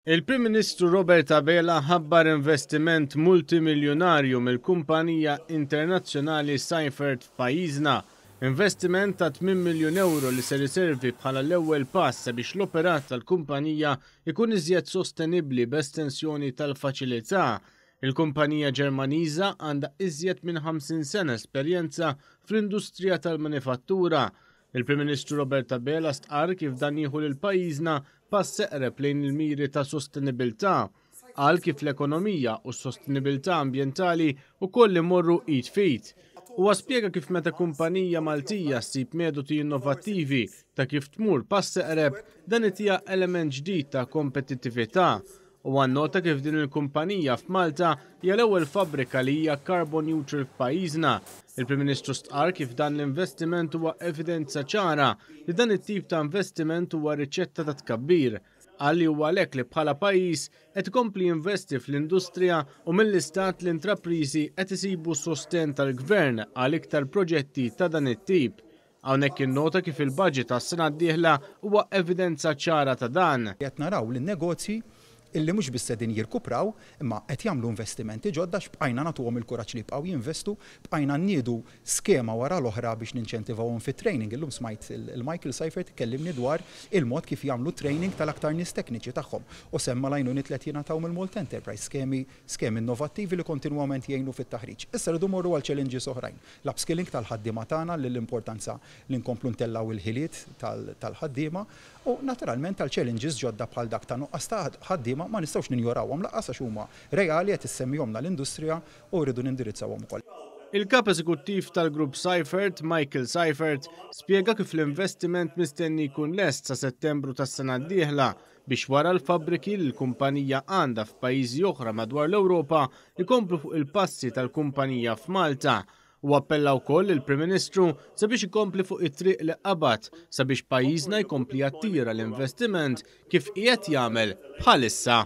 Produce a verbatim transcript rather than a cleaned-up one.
Il-Prim Ministru Robert Abela ħabbar investiment multimiljonarju mill-kumpanija internazzjonali Seifert f'pajjiżna. Investiment ta' tmien miljun euro li ser iservi bħala l-ewwel pass sabiex l-operat tal-kumpanija ikun iżjed sostenibbli b'estensjoni tal-faċilità. Il-kumpanija Ġermaniża għandha iżjed minn ħamsin sena esperjenza fl-industrija tal-manifattura. Il-Prim Ministru Robert Abela stqarr kif dan jieħu lil pajjiżna pass eqreb lejn il-miri ta' sostenibilità. Qal kif l-ekonomija u s-sostenibilità ambjentali wkoll imorru id f'id. Huwa spjega kif meta kumpanija Maltija ssib metodi innovattivi ta' kif tmur pass eqreb, dan itiha element ġdid ta' kompetittività. U nota kif din il-kumpanija f'Malta hija l-ewwel fabbrika li hija carbon neutral f'pajjiżna. Il-Prim Ministru stqarr kif dan l-investiment huwa evidenza ċara li dan it-tip ta' investiment huwa riċetta ta' tkabbir. Qal li huwa għalhekk li bħala pajjiż qed ikompli jinvesti fl-industrija u mill-istat l-intrapriżi qed isibu sosten tal-gvern għal iktar proġetti ta' dan it-tip. Hawnhekk innota kif il-budget għas-sena d-dieħla huwa evidenza ċara ta' dan. Qed naraw lin-negozji illi mhux biss qegħdin jirkupraw, imma qed jagħmlu investimenti ġodda x'bqajna nagħtuhom il-kuraġġ li jibqgħu jinvestu, bqajna nniedu skema wara l-oħra biex ninċentivawhom fit-training. Illum smajt il-Michael Seifert kellimni dwar il-mod kif jagħmlu training tal-aktar nies tekniċi tagħhom. U semma l-għajnuniet li qed jingħataw mill-Malta Enterprise, skemi, skemi innovattivi li kontinwament jgħinu fit-taħriġ. Issa rridu morru għal challenges oħrajn. L-upskilling tal-ħaddiema tagħna, l-importanza li nkomplu ntellaw il-ħiliet tal-ħaddiema u naturalment tal-challenges ġodda bħal dak ta' nuqqas ta' ħaddiema ma nistgħux ninjorawhom lanqas għax huma reali qed issemmihomna l-industrija u rridu nindirizzawhom ukoll. Il-kap eżekuttiv tal-grupp Seifert, Michael Seifert, spjega kif l-investiment mistenni jkun lest sa Settembru tas-sena d-dieħla biex wara l-fabbriki li l-kumpanija għandha f'pajjiżi oħra madwar l-Ewropa ikomplu fuq il-passi tal-kumpanija f'Malta. U appella wkoll il-Prim Ministru sabiex ikompli fuq it-triq li qabad sabiex pajjiżna jkompli jattira l-investiment kif qiegħed jagħmel bħalissa.